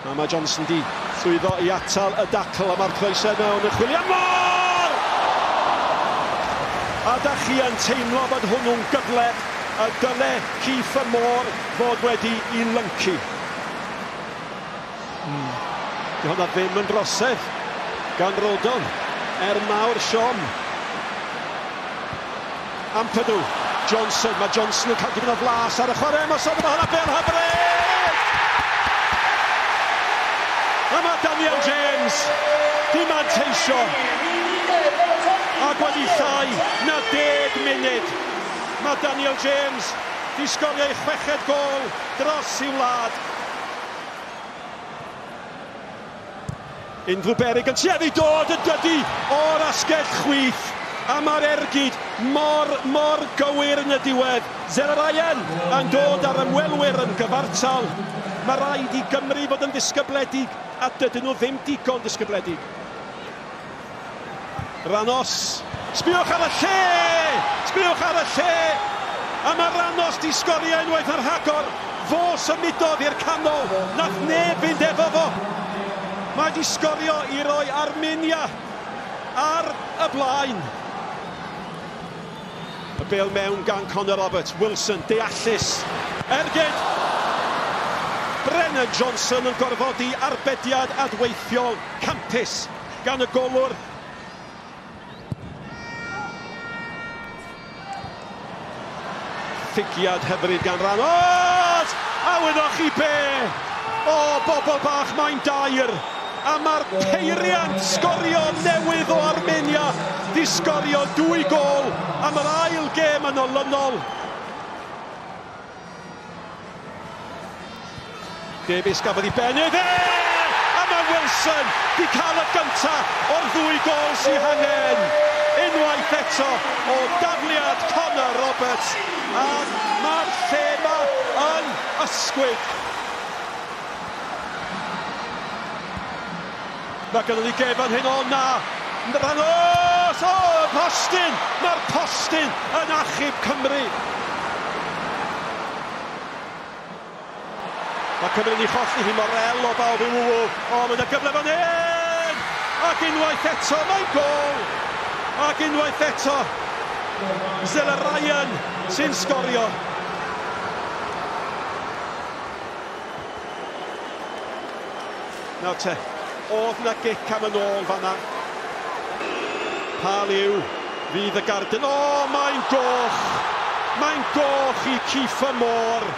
A mae Johnson di llwyddo i atal y dacl, a mae'r croesau mewn yn chwilio am Moore! A da chi yn teimlo bod hwnnw'n gyfle y dyle Kieffer Moore fod wedi i lyncu. Di hwnna ddim yn drosedd gan Rodon, er mawr siom. Ampadu, Johnson, mae Johnson yn cael dipyn o flas ar y chwarae ymosod, mae hwnna bel hyfryd! A mae Daniel James di manteisio ac wedi llai na 10 munud. Mae Daniel James di sgorio ei 6fed gôl dros i'w wlad. Unrhyw beryg yn tueddu dod yn dydi o'r asgell chwith, a mae'r ergyd mor, mor gywir yn y diwedd. Zelarayan yn dod ar ymwelwyr yn gyfartal. Mae rhaid i Gymru fod yn ddisgybledig, a dydyn nhw ddim digon disgybledig. Ranos, sbiwch ar y lle! Sbiwch ar y lle! A mae Ranos di sgorio unwaith ar rhagor. Fo symudodd i'r canol, nath neb fynd efo fo. Mae di sgorio i roi Armenia ar y blaen. Y bêl mewn gan Conor Roberts, Wilson, deallus, ergyd! Brennan Johnson yn gorfodi arbediad adweithiol campus gan y golwr. Ffigiad hyfryd gan Ranos! A wyddoch chi be? O, bobl bach, mae'n dair. A mae'r peiriant sgorio newydd o Armenia di sgorio 2 gôl am yr ail gêm yn olynol. Davies gafodd ei ben iddi! A mae Wilson di cael y gynta o'r 2 gôl sy'n hangen. Unwaith eto o dafliad Conor Roberts, a mae'r lle ma yn ysgwyd. Mae gynnon ni gêm fan hyn, o na! Ranos! O, y postyn! Mae'r postyn yn achub Cymru! Mae Cymru'n ei cholli hi, Morel o bawb i ww. O, mae yna gyfle fan hyn! Ac unwaith eto, mae'n gôl! Ac unwaith eto, Zelarayan sy'n sgorio. Nawr te, oedd na gic am yn ôl fanna. Pa liw fydd y garden? O, mae'n goch! Mae'n goch i Kieffer Moore.